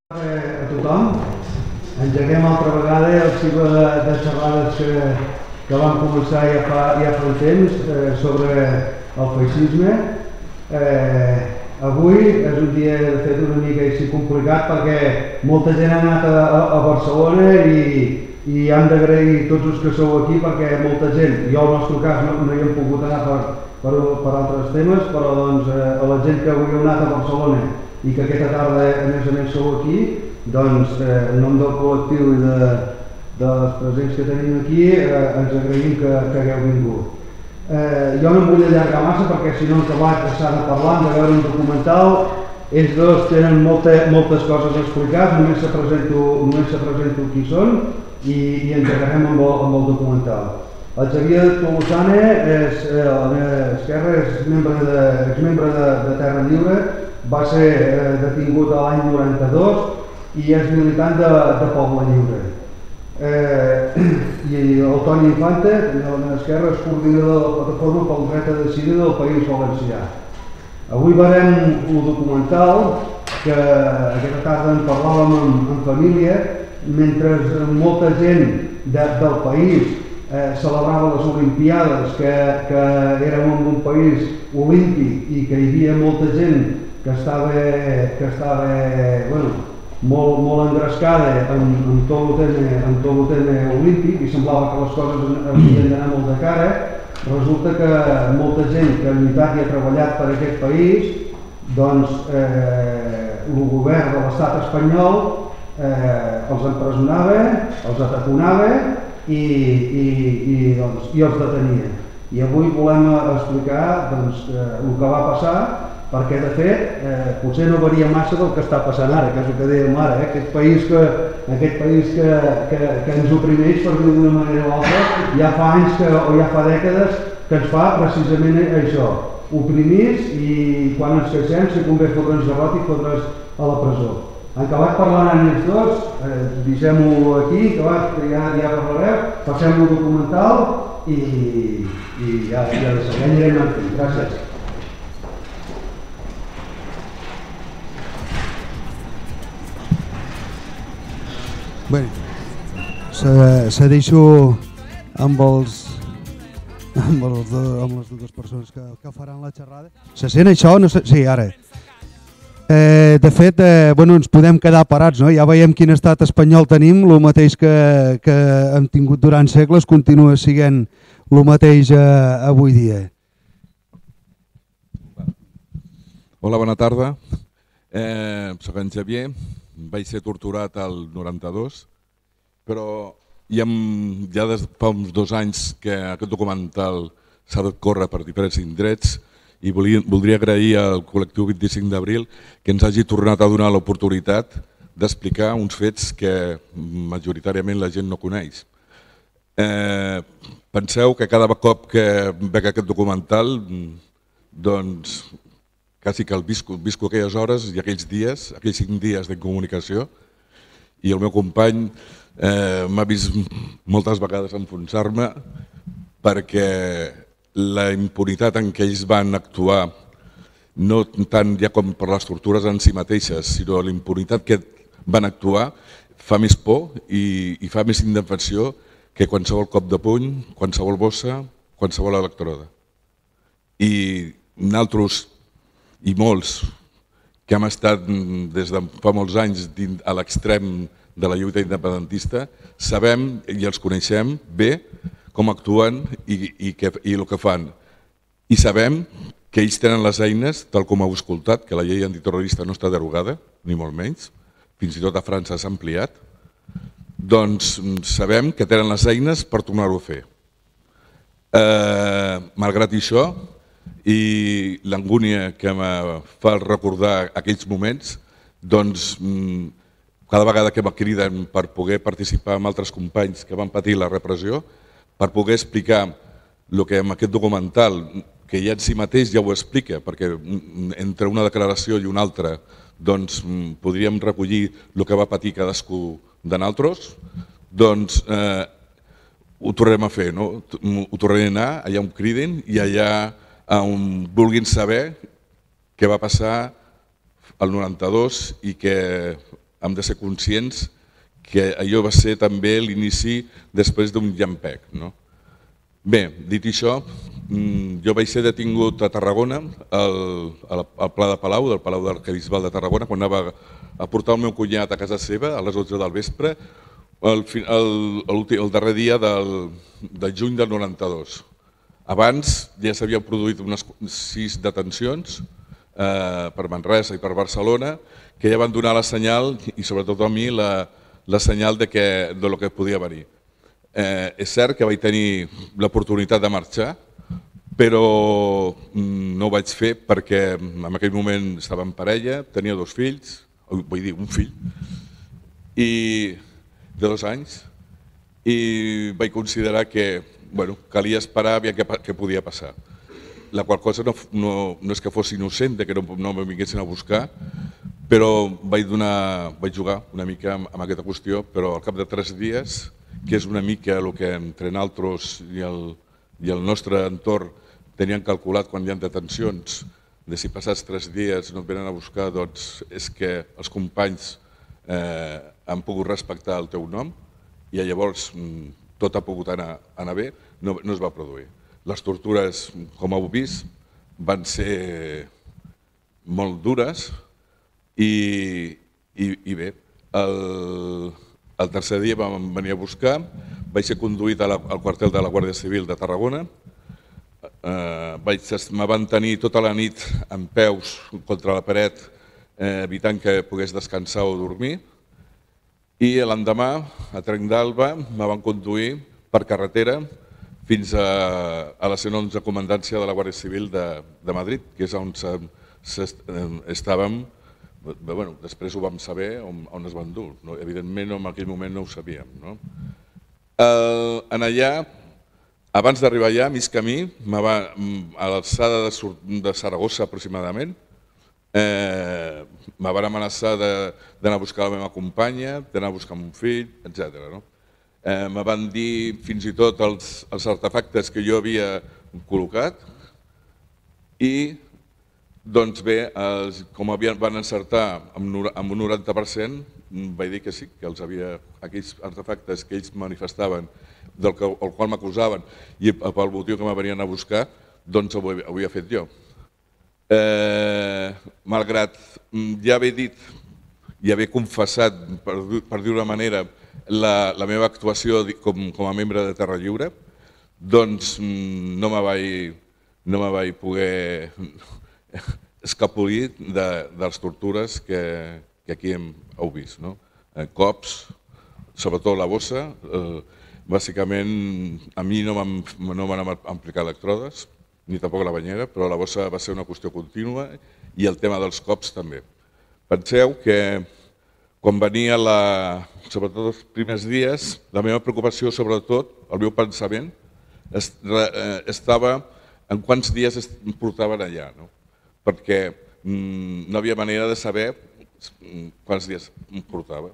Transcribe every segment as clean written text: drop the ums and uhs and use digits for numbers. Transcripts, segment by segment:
A tothom, engeguem altra vegada el cicle de xerrades que vam començar ja fa un temps sobre el feixisme. Avui és un dia de fet una mica així complicat perquè molta gent ha anat a Barcelona i hem d'agrair tots els que sou aquí perquè molta gent, jo al nostre cas no hi hem pogut anar per altres temes, però doncs a la gent que avui heu anat a Barcelona i que aquesta tarda a més sou aquí, doncs en nom del col·lectiu i de les presents que tenim aquí ens agraïm que hagueu vingut. Jo no em vull allargar massa perquè si no hem acabat s'ha de parlar, hem de veure un documental. Ells dos tenen moltes coses a explicar, només se presento qui són i engegarem amb el documental. El Xavier Tolosane és a la meva esquerra, és exmembre de Terra Lliure, va ser detingut l'any 92 i és militant de Poble Lliure. I el Toni Infante, a la meva esquerra, és coordinador de la Plataforma pel Dret a Decidir del País Valencià. Avui veurem un documental que aquesta tarda en parlàvem en família, mentre molta gent del país celebrava les Olimpiades, que érem en un país olímpic i que hi havia molta gent que estava molt engrescada en tot el tema olímpic i semblava que les coses havien d'anar molt de cara. Resulta que molta gent que ha lluitat i ha treballat per aquest país, doncs el govern de l'estat espanyol els empresonava, els ataconava i els detenia. I avui volem explicar el que va passar, perquè de fet potser no varia massa del que està passant ara, que és el que dèiem ara, aquest país que ens oprimeix, per dir d'una manera o altra, ja fa anys o ja fa dècades que ens fa precisament això, oprimits, i quan ens queixem si convé fotre'ns garrot i fotre'ns a la presó. Han acabat parlant ells dos, deixem-ho aquí, que ja parlareu, passem el documental i ja anirem amb fi. Gràcies. Bé, segueixo amb les dues persones que faran la xerrada. Se sent això? No sé. Sí, ara. De fet, ens podem quedar parats, no? Ja veiem quin estat espanyol tenim, el mateix que hem tingut durant segles, continua sent el mateix avui dia. Hola, bona tarda. Soc en Xavier, vaig ser torturat al 92, però ja des de fa uns 2 anys que aquest documental s'ha de córrer per diferents indrets i voldria agrair al col·lectiu 25 d'abril que ens hagi tornat a donar l'oportunitat d'explicar uns fets que majoritàriament la gent no coneix. Penseu que cada cop que veig aquest documental, doncs quasi que el visco aquelles hores i aquells dies, aquells 5 dies d'incomunicació, i el meu company m'ha vist moltes vegades enfonsar-me perquè la impunitat en què ells van actuar, no tant ja com per les tortures en si mateixes, sinó la impunitat que van actuar, fa més por i fa més indefensió que qualsevol cop de puny, qualsevol bossa, qualsevol electroda. I nosaltres, i molts que hem estat des de fa molts anys a l'extrem de la lluita independentista, sabem i els coneixem bé com actuen i el que fan. I sabem que ells tenen les eines, tal com heu escoltat, que la llei antiterrorista no està derogada, ni molt menys, fins i tot a França s'ha ampliat, doncs sabem que tenen les eines per tornar-ho a fer. Malgrat això, i l'angúnia que em fa recordar aquells moments, doncs cada vegada que me criden per poder participar amb altres companys que van patir la repressió, per poder explicar el que en aquest documental, que ja en si mateix ja ho explica, perquè entre una declaració i una altra doncs podríem recollir el que va patir cadascú de nosaltres, doncs ho tornarem a fer, ho tornarem a anar allà on cridin i allà on vulguin saber què va passar al 92 i que hem de ser conscients que allò va ser també l'inici després d'un llampec. Bé, dit això, jo vaig ser detingut a Tarragona, al Pla de Palau, del Palau d'Arquebisbal de Tarragona, quan anava a portar el meu cunyat a casa seva a les 11 del vespre, el darrer dia del juny del 92. Abans ja s'havien produït unes 6 detencions per Manresa i per Barcelona, que ja van donar la senyal, i sobretot a mi, la senyal de lo que podia venir. És cert que vaig tenir l'oportunitat de marxar, però no ho vaig fer perquè en aquell moment estava en parella, tenia 2 fills, vull dir, un fill, de 2 anys, i vaig considerar que calia esperar a veure què podia passar. La qual cosa no és que fos innocent, que no me vinguessin a buscar, però vaig jugar una mica amb aquesta qüestió, però al cap de 3 dies, que és una mica el que entre nosaltres i el nostre entorn tenien calculat quan hi ha detencions, de si passats 3 dies no et venen a buscar, doncs és que els companys han pogut respectar el teu nom i llavors tot ha pogut anar bé, no es va produir. Les tortures, com heu vist, van ser molt dures i bé, el tercer dia vam venir a buscar, vaig ser conduït al quartel de la Guàrdia Civil de Tarragona, me van tenir tota la nit en peus contra la paret evitant que pogués descansar o dormir, i l'endemà, a Trenc d'Alba, me van conduir per carretera fins a la 111 Comandància de la Guàrdia Civil de Madrid, que és on estàvem. Després ho vam saber on es van dur. Evidentment, en aquell moment no ho sabíem. Allà, abans d'arribar allà, a mig camí, a l'alçada de Saragossa aproximadament, me van amenaçar d'anar a buscar la meva companya, d'anar a buscar mon fill, etc. Me van dir fins i tot els artefactes que jo havia col·locat i, doncs bé, com van encertar amb un 90%, vaig dir que sí, que aquells artefactes que ells manifestaven, del qual m'acusaven i pel motiu que me venien a buscar, doncs ho havia fet jo. Malgrat ja haver dit i haver confessat, per dir-ho d'una manera, la meva actuació com a membre de Terra Lliure, doncs no me vaig poder escapolir de les tortures que aquí heu vist. Cops, sobretot la bossa, bàsicament a mi no m'han aplicat electrodes, ni tampoc la banyera, però la bossa va ser una qüestió contínua i el tema dels cops també. Penseu que quan venia, sobretot els primers dies, la meva preocupació, sobretot, el meu pensament, estava en quants dies em portaven allà, perquè no havia manera de saber quants dies em portava.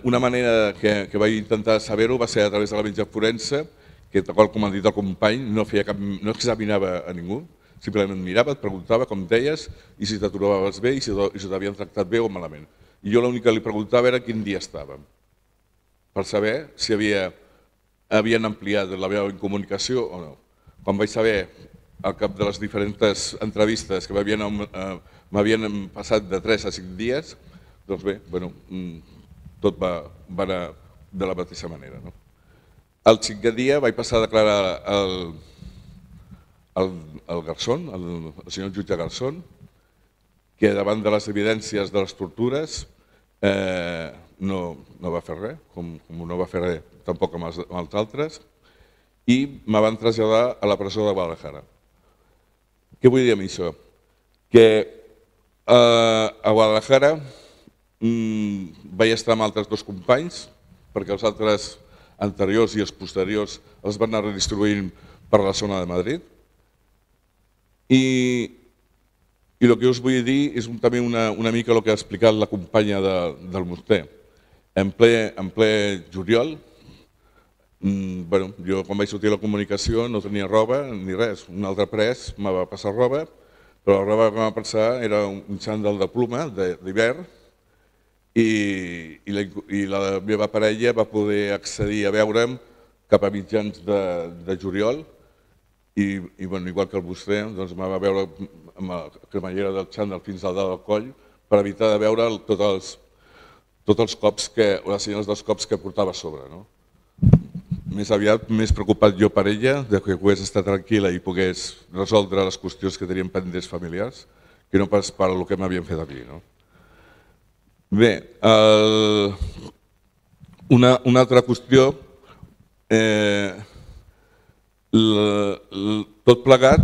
Una manera que vaig intentar saber-ho va ser a través de la metge forense, que tal com ha dit el company, no examinava a ningú, simplement mirava, et preguntava com deies i si te trobaves bé i si t'havien tractat bé o malament. I jo l'únic que li preguntava era quin dia estàvem, per saber si havien ampliat la meva incomunicació o no. Quan vaig saber, al cap de les diferents entrevistes, que m'havien passat de 3 a 5 dies, doncs bé, tot va anar de la mateixa manera. El 5è dia vaig passar a declarar el Garzón, el senyor jutge Garzón, que davant de les evidències de les tortures no va fer res, com no va fer res tampoc amb els altres, i me van traslladar a la presó de Guadalajara. Què vull dir amb això? Que a Guadalajara vaig estar amb altres 2 companys, perquè els altres anteriors i els posteriors els van anar redistribuint per la zona de Madrid. I el que us vull dir és també una mica el que ha explicat la companya del Morter. En ple juliol, jo quan vaig sortir a la comunicació no tenia roba ni res. Un altre pres me va passar roba, però la roba que em va passar era un xandall de pluma d'hivern i la meva parella va poder accedir a veure'm cap a mitjans de juliol i igual que vostè, em va veure amb la cremallera del xandall fins al dalt del coll per evitar de veure tots els cops, les senyals dels cops que portava a sobre. Més aviat, més preocupat jo per ella, que pogués estar tranquil·la i pogués resoldre les qüestions que tenien pendents familiars, que no pas per el que m'havien fet a mi. Bé, una altra qüestió, tot plegat,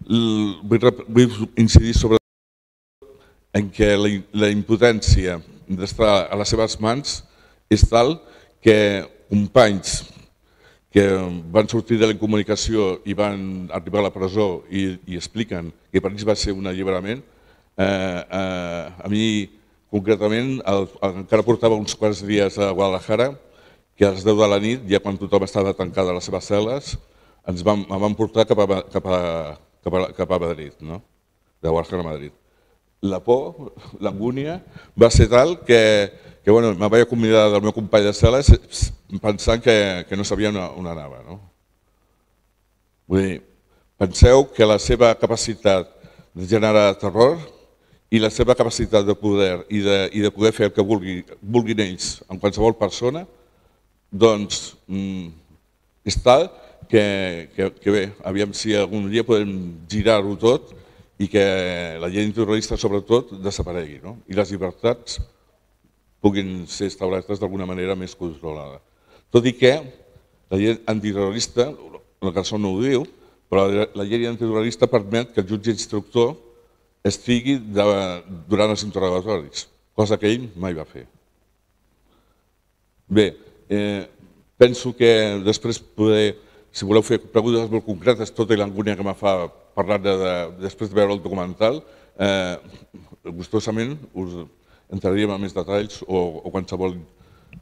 vull incidir sobretot en què la impotència d'estar a les seves mans és tal que companys que van sortir de la incomunicació i van arribar a la presó i expliquen que per ells va ser un alliberament, a mi concretament encara portava uns quants dies a Guadalajara que a les 10 de la nit, ja quan tothom estava tancat a les seves cel·les, em van portar cap a Madrid, de Guadalajara a Madrid. La por, l'angúnia, va ser tal que me vaig acomiadar del meu company de cel·les pensant que no sabia on anava. Vull dir, penseu que la seva capacitat de generar terror i la seva capacitat de poder i de poder fer el que vulguin ells amb qualsevol persona, doncs és tal que bé, aviam si algun dia podem girar-ho tot i que la llei antiterrorista sobretot desaparegui i les llibertats puguin ser establertes d'alguna manera més controlada. Tot i que la llei antiterrorista, la cançó no ho diu, però la llei antiterrorista permet que el jutge instructor estigui durant els interrogatoris, cosa que ell mai va fer. Bé, penso que després poder, si voleu fer preguntes molt concretes, tota l'angúnia que me fa parlar després de veure el documental, gustosament us entraríem en més detalls o qualsevol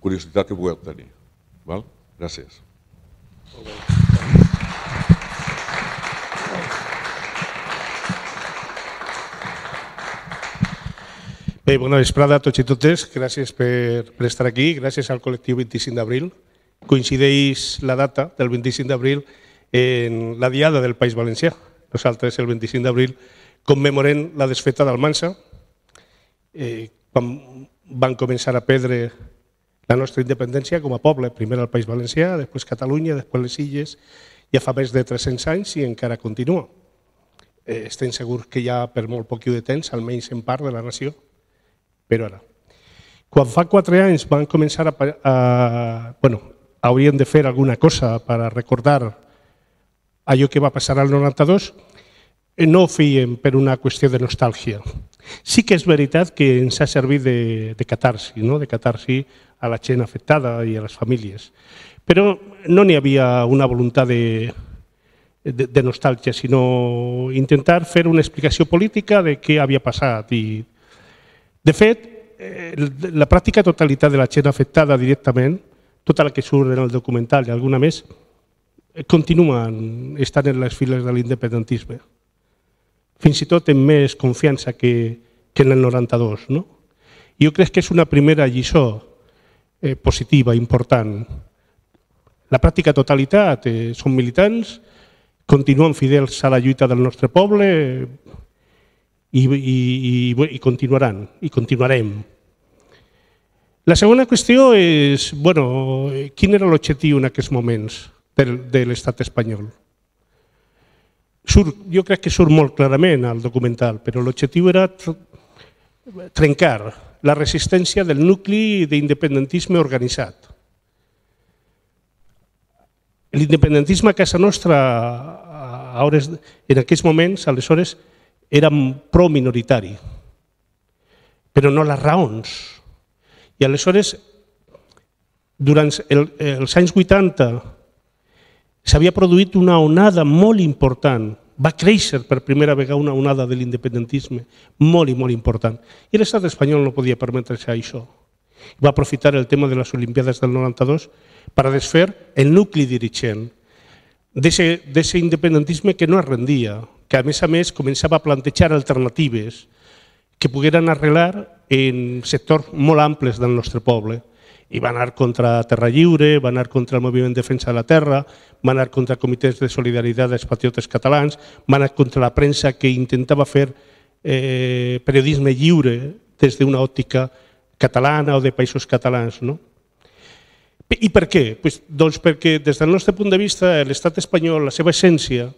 curiositat que pugueu tenir. Gràcies. Bé, bona vesprada a tots i totes. Gràcies per estar aquí. Gràcies al col·lectiu 25 d'abril. Coincideix la data del 25 d'abril en la Diada del País Valencià. Nosaltres, el 25 d'abril, commemorem la desfeta d'Almansa, quan van començar a perdre la nostra independència com a poble, primer al País Valencià, després Catalunya, després les Illes, ja fa més de 300 anys i encara continua. Estem segurs que ja per molt poc de temps, almenys en part de la nació, però ara. Quan fa 4 anys van començar haurien de fer alguna cosa per recordar allò que va passar al 92, no ho feien per una qüestió de nostàlgia. Sí que és veritat que ens ha servit de catarsi, de catarsi a la gent afectada i a les famílies. Però no n'hi havia una voluntat de nostàlgia, sinó intentar fer una explicació política de què havia passat. De fet, la pràctica totalitat de la gent afectada directament, tota la que surt en el documental i alguna més, continuen estant en les files de l'independentisme. Fins i tot amb més confiança que en el 92. Jo crec que és una primera lliçó positiva, important. La pràctica totalitat són militants, continuen fidels a la lluita del nostre poble i continuaran, i continuarem. La segona qüestió és, quin era l'objectiu en aquests moments de l'estat espanyol? Jo crec que surt molt clarament al documental, però l'objectiu era trencar la resistència del nucli d'independentisme organitzat. L'independentisme a casa nostra en aquells moments, aleshores, era pro-minoritari, però no les raons. I aleshores, durant els anys 80, s'havia produït una onada molt important. Va créixer per primera vegada una onada de l'independentisme molt i molt important. I l'estat espanyol no podia permetre's això. Va aprofitar el tema de les Olimpiades del 92 per desfer el nucli dirigent d'aquest independentisme que no es rendia, que a més començava a plantejar alternatives que pogueren arreglar en sectors molt amples del nostre poble. I va anar contra Terra Lliure, va anar contra el Moviment Defensa de la Terra, va anar contra comitès de solidaritat dels patriotes catalans, va anar contra la premsa que intentava fer periodisme lliure des d'una òptica catalana o de països catalans. I per què? Doncs perquè des del nostre punt de vista l'estat espanyol, la seva essència,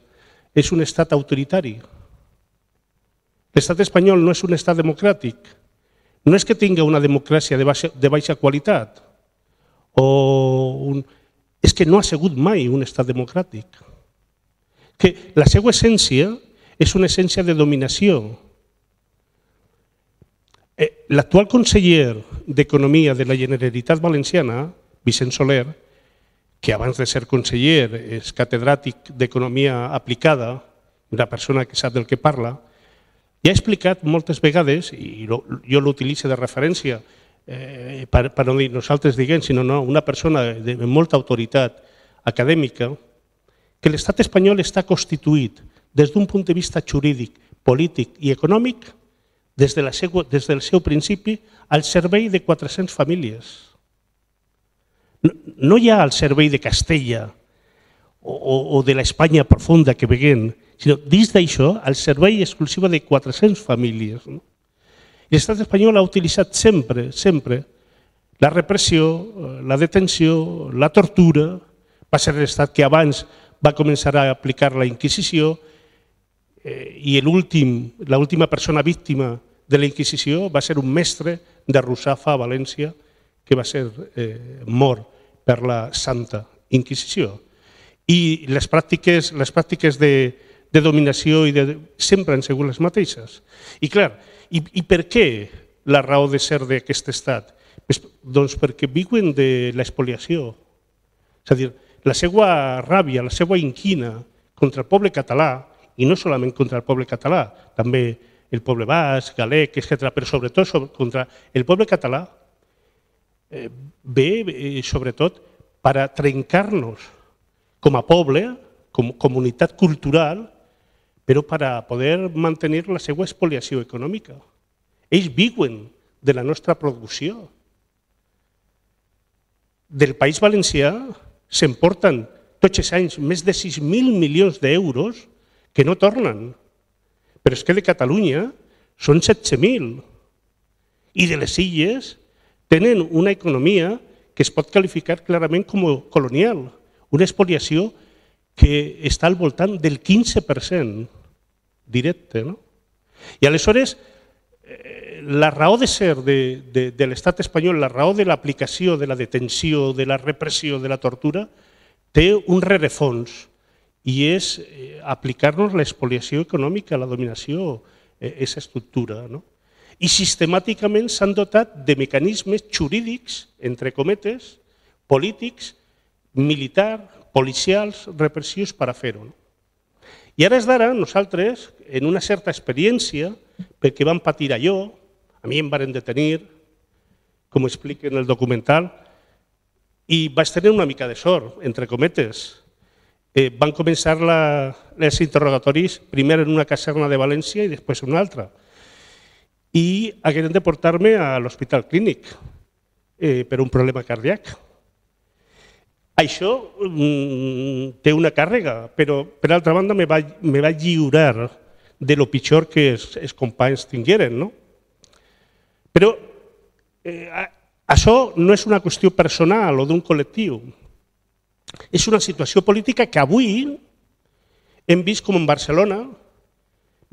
és un estat autoritari. L'estat espanyol no és un estat democràtic. No és que tingui una democràcia de baixa qualitat, és que no ha sigut mai un estat democràtic. Que la seva essència és una essència de dominació. L'actual conseller d'Economia de la Generalitat Valenciana, Vicent Soler, que abans de ser conseller és catedràtic d'Economia Aplicada, una persona que sap del que parla, ja ha explicat moltes vegades, i jo l'utilitzo de referència per no dir nosaltres diguem, sinó una persona de molta autoritat acadèmica, que l'estat espanyol està constituït des d'un punt de vista jurídic, polític i econòmic des del seu principi al servei de 400 famílies. No hi ha al servei de Castella o de l'Espanya profunda que veiem, sinó dins d'això el servei exclusiu de 400 famílies. L'estat espanyol ha utilitzat sempre la repressió, la detenció, la tortura. Va ser l'estat que abans va començar a aplicar la Inquisició i l'última persona víctima de la Inquisició va ser un mestre de Russafa a València que va ser mort per la Santa Inquisició. I les pràctiques de dominació sempre han sigut les mateixes. I clar, i per què la raó de ser d'aquest estat? Doncs perquè viuen de l'espoliació. És a dir, la seva ràbia, la seva inquina contra el poble català, i no solament contra el poble català, també el poble basc, galec, etc., però sobretot contra el poble català, ve sobretot per a trencar-nos com a poble, com a comunitat cultural, però per a poder mantenir la seva expoliació econòmica. Ells viuen de la nostra producció. Del País Valencià s'emporten tots els anys més de 6.000 milions d'euros que no tornen. Però és que de Catalunya són 17.000. I de les illes tenen una economia que es pot qualificar clarament com a colonial, una expoliació que està al voltant del 15% directe. I aleshores, la raó de ser de l'estat espanyol, la raó de l'aplicació, de la detenció, de la repressió, de la tortura, té un rerefons i és aplicar-nos l'expoliació econòmica, la dominació, aquesta estructura. I sistemàticament s'han dotat de mecanismes jurídics, entre cometes, polítics, militars, policials, repressius per a fer-ho. I ara és d'ara, nosaltres, en una certa experiència, perquè vam patir allò, a mi em van detenir, com explica en el documental, i vaig tenir una mica de sort, entre cometes. Van començar els interrogatoris primer en una caserna de València i després en una altra. I hagueren de portar-me a l'Hospital Clínic per un problema cardíac. Això té una càrrega, però per altra banda me va lliurar de lo pitjor que els companys tingueren. Però això no és una qüestió personal o d'un col·lectiu. És una situació política que avui hem vist com en Barcelona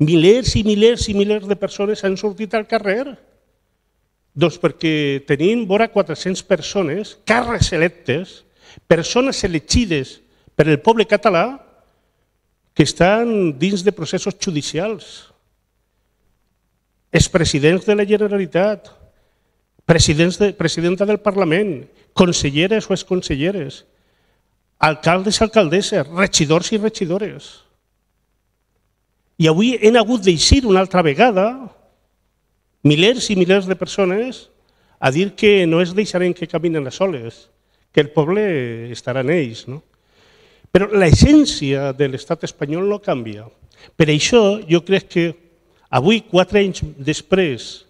milers i milers i milers de persones han sortit al carrer. Doncs perquè tenim vora 400 persones, càrrecs electes, persones elegides per el poble català que estan dins de processos judicials. Expresidents de la Generalitat, presidenta del Parlament, conselleres o exconselleres, alcaldes i alcaldesses, regidors i regidores. I avui hem hagut d'eixir una altra vegada milers i milers de persones a dir que no es deixarem que caminen a soles, que el poble estarà en ells. Però l'essència de l'estat espanyol no canvia. Per això jo crec que avui, 4 anys després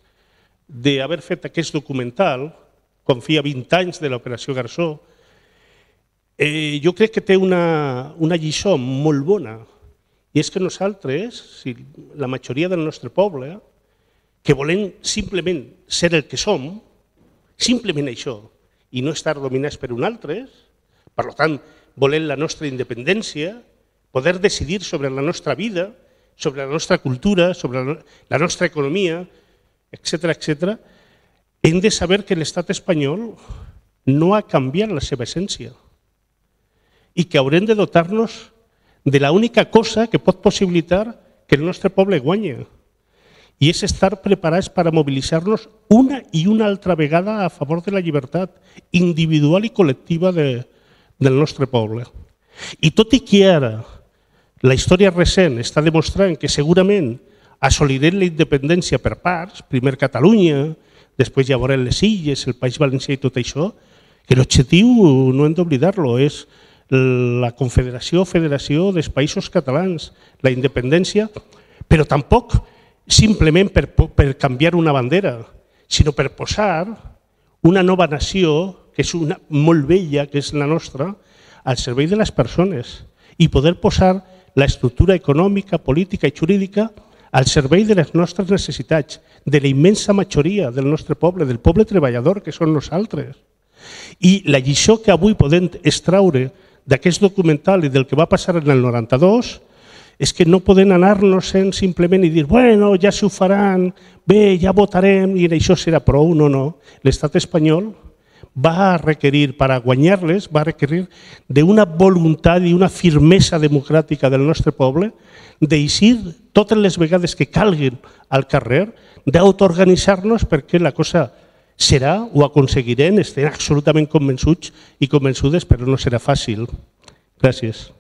d'haver fet aquest documental, quan feia 20 anys de l'Operació Garzó, jo crec que té una lliçó molt bona, i és que nosaltres, la majoria del nostre poble, que volem simplement ser el que som, simplement això, i no estar dominats per un altre, per tant, volem la nostra independència, poder decidir sobre la nostra vida, sobre la nostra cultura, sobre la nostra economia, etc., hem de saber que l'estat espanyol no ha canviat la seva essència i que haurem de dotar-nos de l'única cosa que pot possibilitar que el nostre poble guanyi, i és estar preparats per a mobilitzar-nos una i una altra vegada a favor de la llibertat individual i col·lectiva del nostre poble. I tot i que ara la història recent està demostrant que segurament assolirem la independència per parts, primer Catalunya, després ja veurem les Illes, el País Valencià i tot això, que l'objectiu no hem d'oblidar-lo, és la confederació o federació dels països catalans, la independència, però tampoc simplement per canviar una bandera, sinó per posar una nova nació, que és una molt vella, que és la nostra, al servei de les persones i poder posar l'estructura econòmica, política i jurídica al servei de les nostres necessitats, de la immensa majoria del nostre poble, del poble treballador que són nosaltres. I la lliçó que avui podem extraure d'aquest documental i del que va passar en el 92 és que no podem anar-nos-en simplement i dir bueno, ja s'ho faran, bé, ja votarem i això serà prou. No, no. L'estat espanyol va requerir, per a guanyar-les, va requerir d'una voluntat i una firmesa democràtica del nostre poble d'eixir totes les vegades que calguin al carrer, d'autoorganitzar-nos perquè la cosa serà, ho aconseguirem, estem absolutament convençuts i convençudes, però no serà fàcil. Gràcies.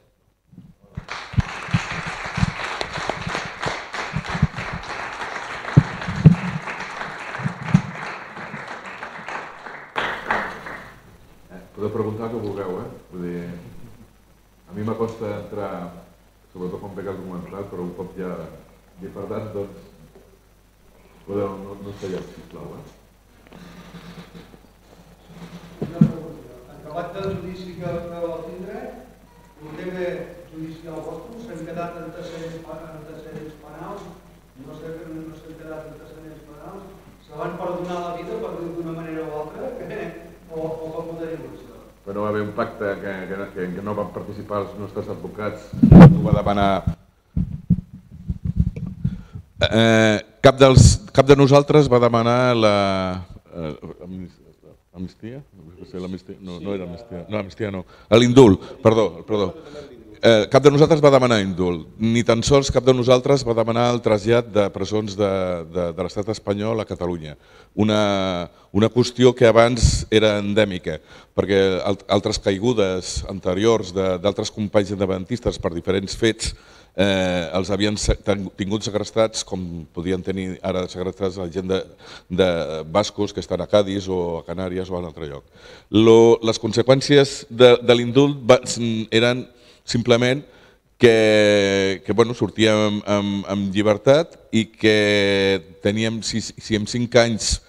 Podeu preguntar el que vulgueu, Vull dir, a mi m'acosta entrar, sobretot quan veig el documental, però un cop ja he parlat, doncs, podeu, no estalleu, sisplau, Una pregunta. Acabat del judici que vau tindre, el tema judicial vostre s'han quedat antecedents penals, no s'han quedat antecedents penals, se van perdonar la vida, per dir d'una manera o altra, o com ho teniu això? Però va haver un pacte que no van participar els nostres advocats, ho va demanar. Cap de nosaltres va demanar l'amnistia? No era amnistia. No, amnistia no. L'indult, perdó. Cap de nosaltres va demanar indult, ni tan sols cap de nosaltres va demanar el trasllat de presons de l'estat espanyol a Catalunya. Una qüestió que abans era endèmica, perquè altres caigudes anteriors d'altres companys independentistes per diferents fets els havien tingut segrestats com podien tenir ara segrestats la gent de bascos que estan a Cádiz o a Canàries o a un altre lloc. Les conseqüències de l'indult eren simplement que sortíem amb llibertat i que teníem, si en 5 anys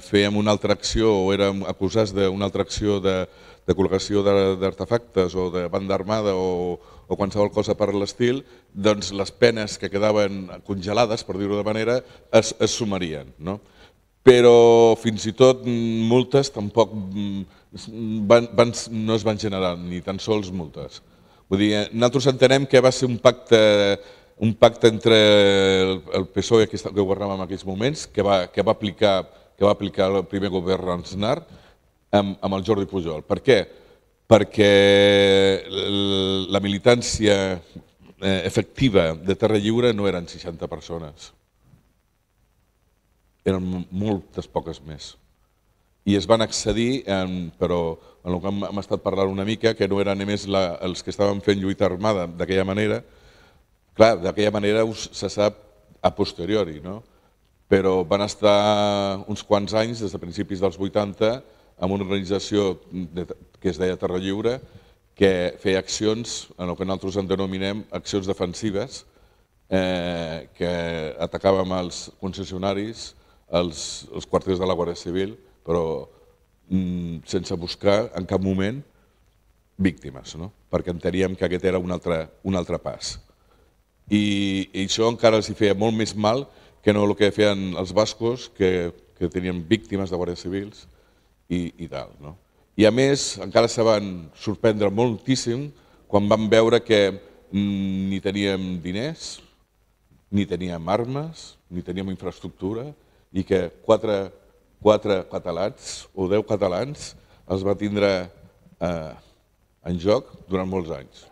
fèiem una altra acció o érem acusats d'una altra acció de col·locació d'artefactes o de banda armada o qualsevol cosa per l'estil, doncs les penes que quedaven congelades, per dir-ho de manera, es sumarien. Però fins i tot multes tampoc no es van generar, ni tan sols multes. Vull dir, nosaltres entenem que va ser un pacte entre el PSOE que governava en aquells moments, que va aplicar el primer govern Aznar amb el Jordi Pujol. Per què? Perquè la militància efectiva de Terra Lliure no eren 60 persones. Eren moltes poques més. I es van accedir, però en el que hem estat parlant una mica, que no eren només els que estaven fent lluita armada d'aquella manera. Clar, d'aquella manera se sap a posteriori, però van estar uns quants anys, des de principis dels 80, amb una organització que es deia Terra Lliure, que feia accions, en el que nosaltres en denominem accions defensives, que atacàvem els concessionaris, els quarters de la Guàrdia Civil, però sense buscar en cap moment víctimes, perquè enteníem que aquest era un altre pas. I això encara els feia molt més mal que no el que feien els bascos, que tenien víctimes de guàrdies civils i tal. I a més, encara se van sorprendre moltíssim quan van veure que ni teníem diners, ni teníem armes, ni teníem infraestructura, i que 4 catalans o 10 catalans els va tindre en joc durant molts anys.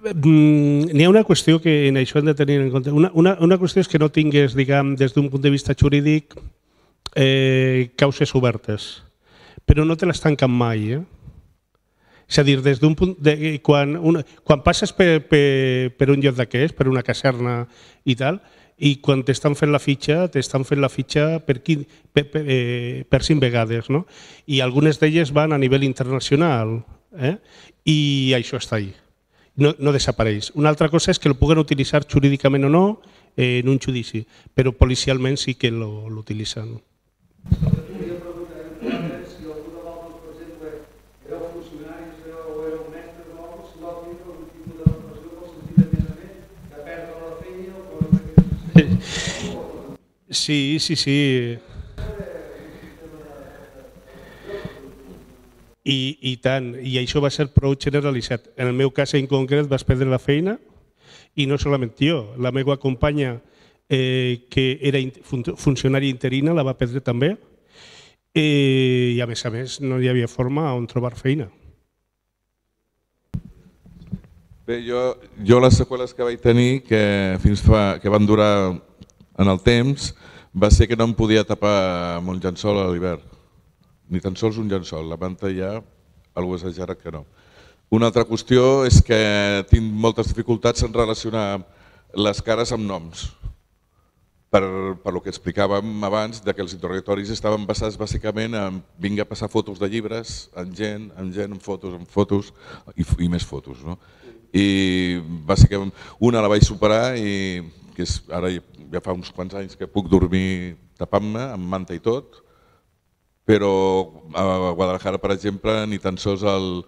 N'hi ha una qüestió que en això hem de tenir en compte. Una qüestió és que no tingués, diguem, des d'un punt de vista jurídic, causes obertes, però no te les tanquen mai. És a dir, des d'un punt quan passes per un lloc d'aquests, per una caserna i tal, i quan t'estan fent la fitxa per 5 vegades, i algunes d'elles van a nivell internacional, i això està ahí. No desapareix. Una altra cosa és que el puguen utilitzar jurídicament o no en un judici, però policialment sí que l'utilitzen. Sí. I tant, i això va ser prou generalitzat. En el meu cas en concret vaig perdre la feina i no solament jo, la meva companya que era funcionària interina la va perdre també i a més no hi havia forma on trobar feina. Bé, jo les seqüeles que vaig tenir que van durar en el temps va ser que no em podia tapar amb un llençol a l'hivern. Ni tan sols un llençol, la manta ja algú ha exagerat que no. Una altra qüestió és que tinc moltes dificultats en relacionar les cares amb noms. Per lo que explicàvem abans, que els interrogatoris estaven basats bàsicament en vinga a passar fotos de llibres, en gent, en fotos i més fotos. I bàsicament una la vaig superar i ara ja fa uns quants anys que puc dormir tapant-me amb manta i tot, però a Guadalajara, per exemple, ni tan sols amb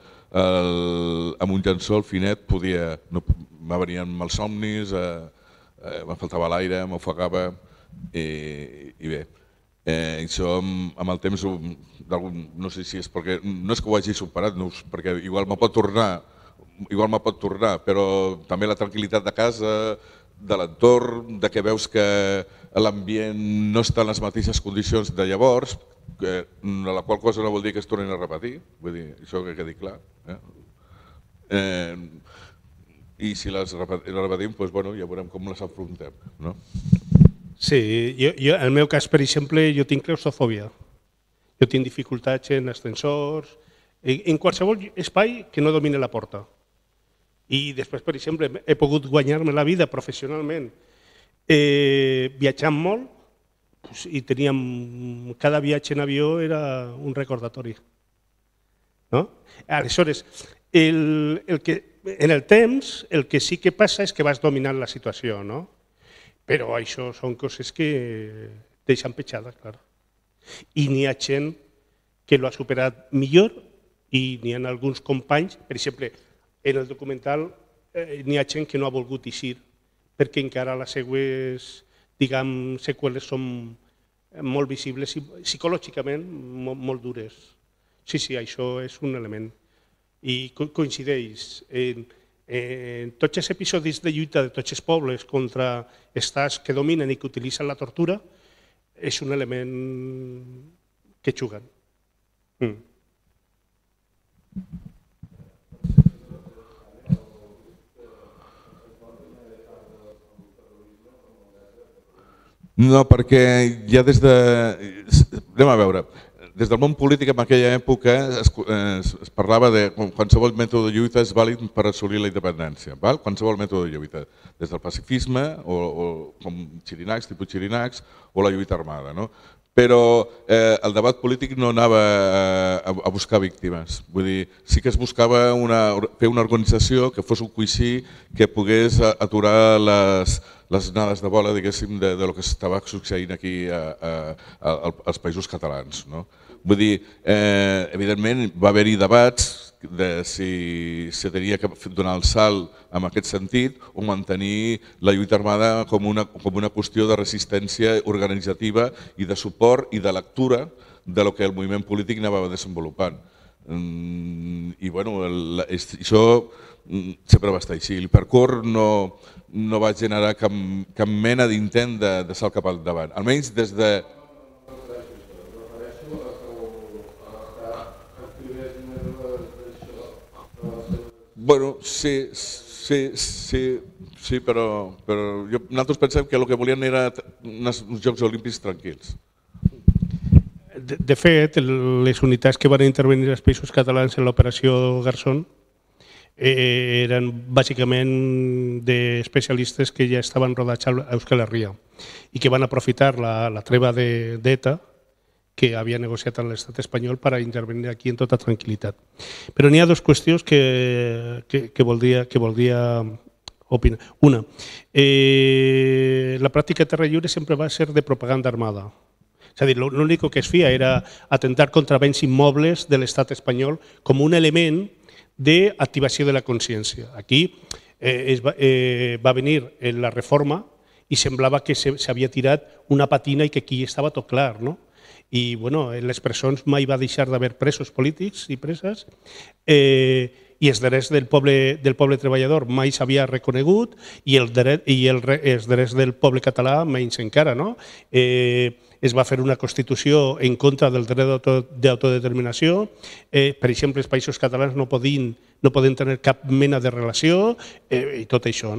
un llençol finet me venien malsomnis, me faltava l'aire, m'ofegava i bé. Això amb el temps, no sé si és perquè, no és que ho hagi superat, perquè igual me pot tornar, però també la tranquil·litat de casa, de l'entorn, que veus que l'ambient no està en les mateixes condicions de llavors, la qual cosa no vol dir que es tornin a repetir, vull dir, això que quedi clar. I si les repetim, ja veurem com les afrontem. Sí, en el meu cas, per exemple, jo tinc claustrofòbia. Jo tinc dificultats en ascensors, en qualsevol espai que no domini la porta. I després, per exemple, he pogut guanyar-me la vida professionalment viatjant molt i cada viatge en avió era un recordatori. Aleshores, en el temps el que sí que passa és que vas dominant la situació, però això són coses que deixen petjades, clar. I n'hi ha gent que l'ha superat millor i n'hi ha alguns companys, per exemple, en el documental n'hi ha gent que no ha volgut eixir perquè encara les seues seqüeles són molt visibles i psicològicament molt dures. Sí, això és un element. I coincideix en tots els episodis de lluita de tots els pobles contra estats que dominen i que utilitzen la tortura, és un element que juguen. No, perquè ja anem a veure, des del món polític en aquella època es parlava de qualsevol mètode de lluita és vàlid per assolir la independència, qualsevol mètode de lluita, des del pacifisme, com tipus xirinacs, o la lluita armada. Però el debat polític no anava a buscar víctimes. Vull dir, sí que es buscava fer una organització que fos un coixí que pogués aturar les onades de bola, diguéssim, de lo que estava succeint aquí als països catalans. Vull dir, evidentment va haver-hi debats de si s'havia que donar el salt en aquest sentit o mantenir la lluita armada com una qüestió de resistència organitzativa i de suport i de lectura de lo que el moviment polític anava desenvolupant. I bueno, això sempre va estar així. L'Hipercor no va generar cap mena d'intent de salt cap al davant, almenys des de... Bueno, sí, però nosaltres pensem que el que volien era uns Jocs Olímpics tranquils. De fet, les unitats que van intervenir als Països Catalans en l'operació Garzón eren bàsicament d'especialistes que ja estaven rodats a Euskal Herria i que van aprofitar la treva d'ETA que havia negociat amb l'estat espanyol per a intervenir aquí en tota tranquil·litat. Però n'hi ha dues qüestions que voldria opinar. Una, la pràctica de terra lliure sempre va ser de propaganda armada. És a dir, l'únic que es feia era atentar contra béns immobles de l'estat espanyol com un element d'activació de la consciència. Aquí va venir la reforma i semblava que s'havia tirat una patina i que aquí estava tot clar, no? I en les presons mai va deixar d'haver presos polítics i preses i els drets del poble treballador mai s'havia reconegut i els drets del poble català menys encara. Es va fer una Constitució en contra del dret d'autodeterminació. Per exemple, els països catalans no poden tenir cap mena de relació i tot això.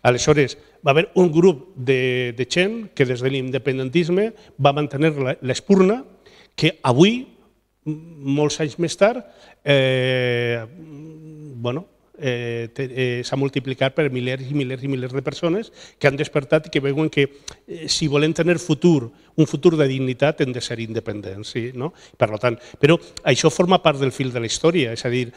Aleshores, va haver un grup de gent que des de l'independentisme va mantenir l'espurna que avui, molts anys més tard, s'ha multiplicat per milers i milers i milers de persones que han despertat i que veuen que si volem tenir un futur de dignitat hem de ser independents. Per tant, però això forma part del fil de la història, és a dir,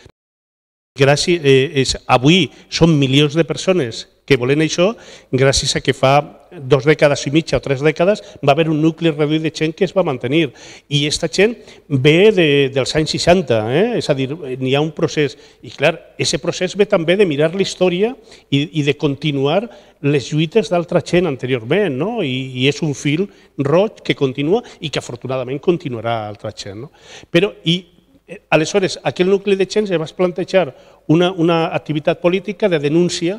avui són milions de persones que volen això gràcies a que fa 2 dècades i mitja o 3 dècades va haver un nucli reduït de gent que es va mantenir. I aquesta gent ve dels anys 60, és a dir, n'hi ha un procés. I clar, aquest procés ve també de mirar la història i de continuar les lluites d'altra gent anteriorment. I és un fil roig que continua i que afortunadament continuarà altra gent. Però, aleshores, aquell nucli de gent es va plantejar una activitat política de denúncia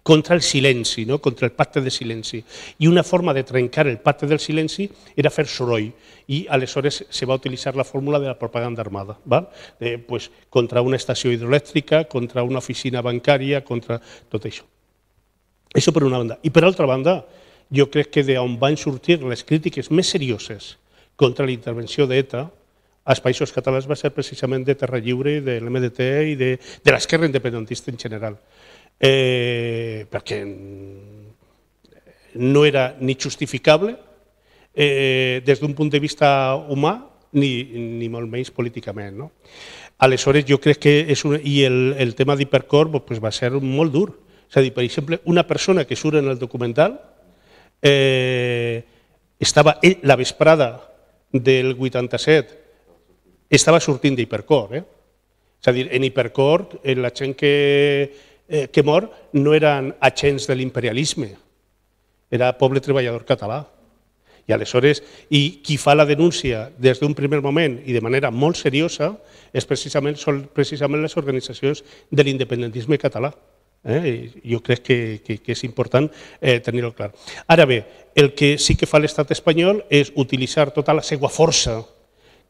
contra el silenci, contra el pacte de silenci. I una forma de trencar el pacte del silenci era fer soroll. I aleshores se va utilitzar la fórmula de la propaganda armada, contra una estació hidroelèctrica, contra una oficina bancària, contra tot això. Això per una banda. I per altra banda, jo crec que d'on van sortir les crítiques més serioses contra la intervenció d'ETA als països catalans va ser precisament de Terra Lliure, de l'MDT i de l'esquerra independentista en general. Perquè no era ni justificable des d'un punt de vista humà ni molt menys políticament. Aleshores, jo crec que el tema d'Hipercor va ser molt dur. És a dir, per exemple, una persona que surt en el documental estava la vesprada del 87 estava sortint d'Hipercor. És a dir, en Hipercor la gent que mor no eren agents de l'imperialisme, era poble treballador català. I aleshores, qui fa la denúncia des d'un primer moment i de manera molt seriosa són precisament les organitzacions de l'independentisme català. Jo crec que és important tenir-ho clar. Ara bé, el que sí que fa l'estat espanyol és utilitzar tota la seva força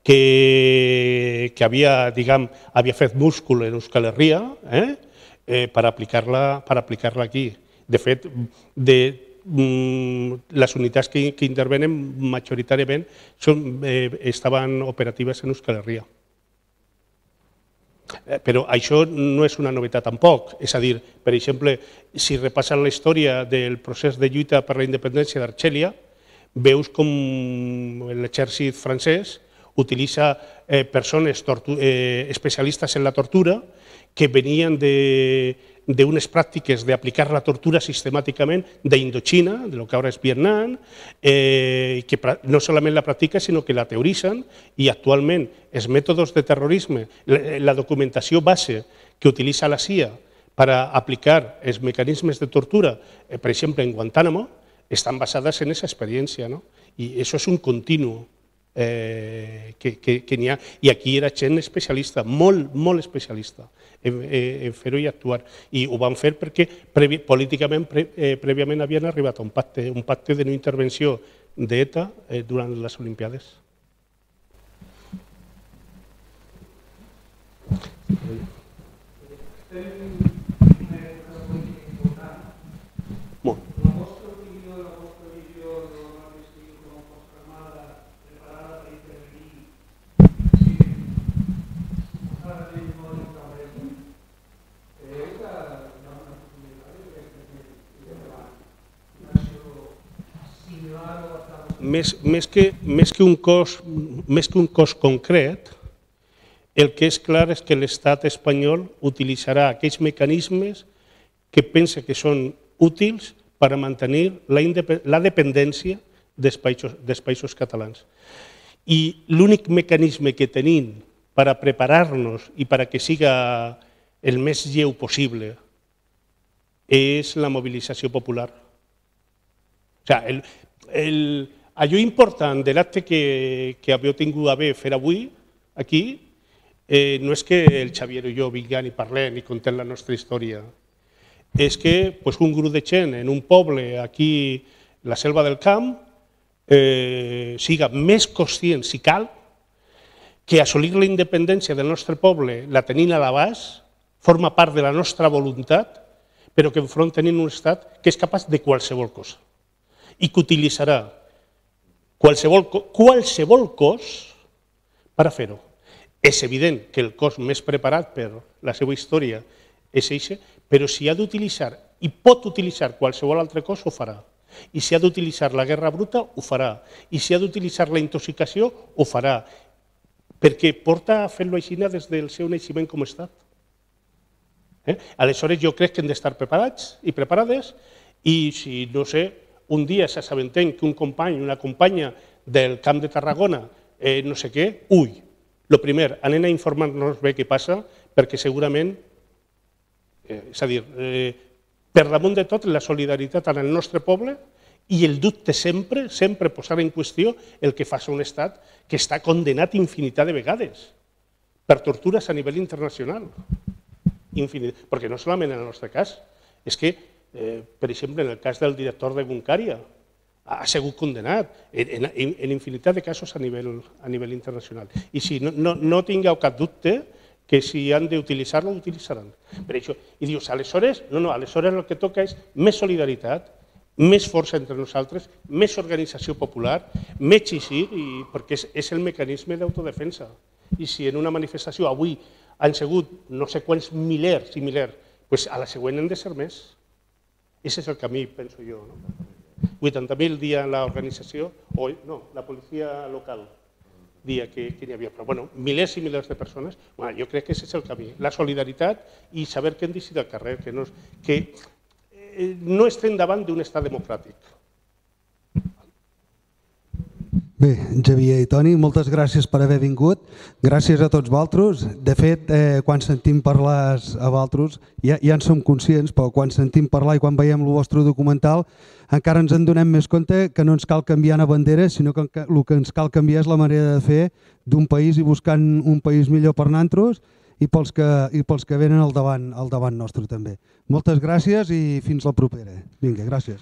que havia fet múscul en Euskal Herria per aplicar-la aquí. De fet, les unitats que intervenen majoritàriament estaven operatives en Euskal Herria. Però això no és una novetat tampoc. És a dir, per exemple, si repassen la història del procés de lluita per la independència d'Argèlia, veus com l'exèrcit francès utilitza persones especialistes en la tortura que venien d'unes pràctiques d'aplicar la tortura sistemàticament d'Indochina, de lo que ara és Vietnam, que no solament la practica, sinó que la teoritzen, i actualment els mètodes de terrorisme, la documentació base que utilitza la CIA per aplicar els mecanismes de tortura, per exemple, en Guantánamo, estan basades en aquesta experiència. I això és un continu que n'hi ha. I aquí era gent especialista, molt especialista en fer-ho i actuar. I ho van fer perquè políticament prèviament havien arribat a un pacte de no intervenció d'ETA durant les Olimpiades. Molt. Més que un cos concret, el que és clar és que l'estat espanyol utilitzarà aquells mecanismes que pensa que són útils per a mantenir la dependència dels països catalans. I l'únic mecanisme que tenim per a preparar-nos i per a que siga el més lleu possible és la mobilització popular. Allò important de l'acte que havia tingut a bé fer avui aquí no és que el Xavier i jo vinguem i parlem i contem la nostra història, és que un grup de gent en un poble aquí, la Selva del Camp, siga més conscient, si cal, que assolir la independència del nostre poble la tenim a l'abast, forma part de la nostra voluntat, però que enfront tenim un estat que és capaç de qualsevol cosa i que utilitzarà qualsevol cos per a fer-ho. És evident que el cos més preparat per la seva història és aquest, però si ha d'utilitzar i pot utilitzar qualsevol altre cos, ho farà. I si ha d'utilitzar la guerra bruta, ho farà. I si ha d'utilitzar la intoxicació, ho farà. Perquè porta a fer-lo així des del seu naixement com a estat. Aleshores, jo crec que hem d'estar preparats i preparades i si, no sé, un dia s'assabentem que un company, una companya del Camp de Tarragona, no sé què, el primer, anem a informar-nos bé què passa, perquè segurament, és a dir, per damunt de tot, la solidaritat amb el nostre poble i el dubte sempre posar en qüestió el que fa un estat que està condenat infinitat de vegades per tortures a nivell internacional. Perquè no solament en el nostre cas, és que, per exemple, en el cas del director de Guncària, ha sigut condenat en infinitat de casos a nivell internacional. I si no tingueu cap dubte que si han d'utilitzar-lo, ho utilitzaran. I dius, aleshores, aleshores el que toca és més solidaritat, més força entre nosaltres, més organització popular, més xixir, perquè és el mecanisme d'autodefensa. I si en una manifestació avui han sigut no sé quants milers i milers, doncs a la següent han de ser més. Aquest és el camí, penso jo. 80.000 dia l'organització, no, la policia local dia que n'hi havia, però bueno, milers i milers de persones, jo crec que aquest és el camí, la solidaritat i saber que hem d'eixir del carrer, que no estem davant d'un estat democràtic. Bé, Xavier i Toni, moltes gràcies per haver vingut, gràcies a tots vosaltres. De fet, quan sentim parlar a vosaltres, ja en som conscients, però quan sentim parlar i quan veiem el vostre documental, encara ens en donem més compte que no ens cal canviar una bandera, sinó que el que ens cal canviar és la manera de fer d'un país i buscant un país millor per nosaltres i pels que venen al davant nostre també. Moltes gràcies i fins la propera. Vinga, gràcies.